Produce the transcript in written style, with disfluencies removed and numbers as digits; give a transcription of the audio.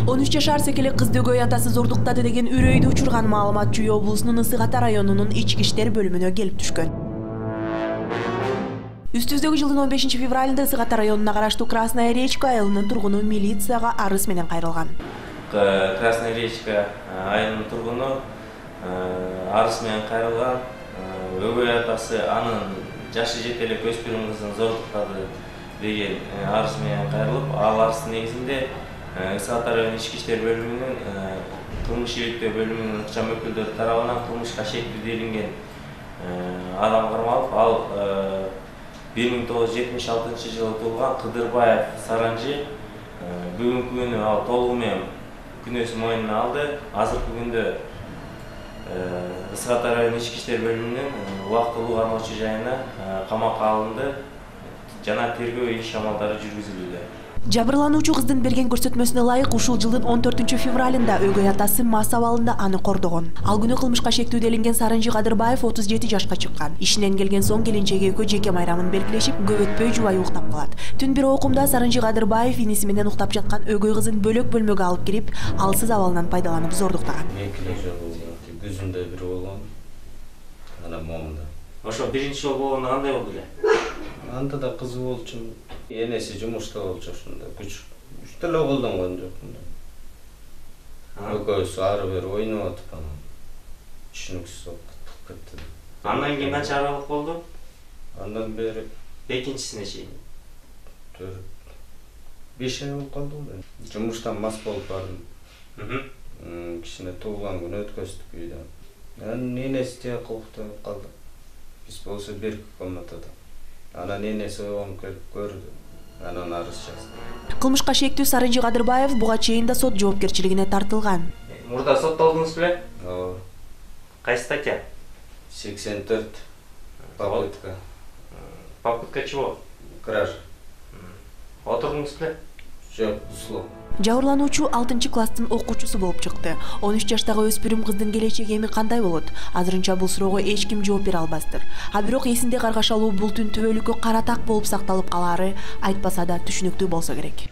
13 жашар секелек кызды өгөй атасы зордуктады деген үрөйдү учурган маалымат Чүй облусунун Ысык Ата районунун ички иштер бөлүмүнө келип түшкөн. Үстүбүздөгү жылдын 15 февралында Ысык Ата районуна караштуу Красная Речка айылынын тургуну милицияга арыз менен кайрылган. Красная Речка айылынын тургуну арыз менен кайрылган. Өгөй атасы анын жашы жете элек өспүрүм кызын зордуктады деген арыз менен кайрылып, ал арыздын негизинде Ысык Ата району ички иштер бөлүмүнүн кылмыш иликтөө бөлүмүнүн ыкчам өкүлдөрү тарабынан кылмышка шектүү делинген адам кармалып, ал 1976 жылы туулган Кыдырбаев Саранжи бүгүнкү күнү ал толугу менен күнөөсүн мойнуна алды. Азыркы күндө Ысык Ата району ички иштер бөлүмүнүн убактылуу кармоочу жайына камакка алынды жана тергөө иш-амалдары жүргүзүлүүдө. Жабырлануучу кыздын берген көрсөтмөсүнө ылайык ушул жылдын 14 февралында өгөй атасы мас абалында аны кордогон. Ал күнү кылмышка шектүү делинген Саранжи Кадырбаев 37 жашка чыккан. Ишинен келген соң келинчеги экөө жеке майрамын белгилешип, көп өтпөй жубайы уктап калат. Түн бир окумда Саранжи Кадырбаев иниси менен уктап жаткан өгөй кызын бөлөк бөлмөгө алып кирип, алсыз абалынан пайдаланып зордуктаган. Күзүндө бир болгон. Анан момунда. Ошо биринчи жолу болгондо кандай болду эле? Анда да кызы болчу. Энеси жумушта болчу ошондо. Күч деле колдонгон жокмун. Экөөсү ары бери ойноп атып анан түшүнүксүз болуп кетти. Андан кийин канча аралык болду? Андан бери экинчисине чейин 5 ай болуп калды. Жумуштан мас болуп бардым. Кичине туулган күнү өткөздүк үйдө. Анан энеси тияк уктап калды. Биз болсо бир комнатада. Анан энеси ойгонуп келип көрдү. Анан арыз жазды. Кылмышка шектүү Саранжи Кадырбаев буга чейин да сот жоопкерчилигине тартылган. Мурда соттолдуңуз беле? Ооба. Кайсы статья? 84. Попытка. Попытка чего? Кража. Отурдуңуз беле? Жок, услов. Жабырлануучу 6-класстын окуучусу болуп чыкты. 13 жаштагы өспүрүм кыздын келечеги эми кандай болот? Азырынча бул суроого эч ким жооп бере албастыр. А бирок эсинде каргашалуу бул түн түбөлүккө кара так болуп сакталып калаары айтпаса да түшүнүктүү болсо керек.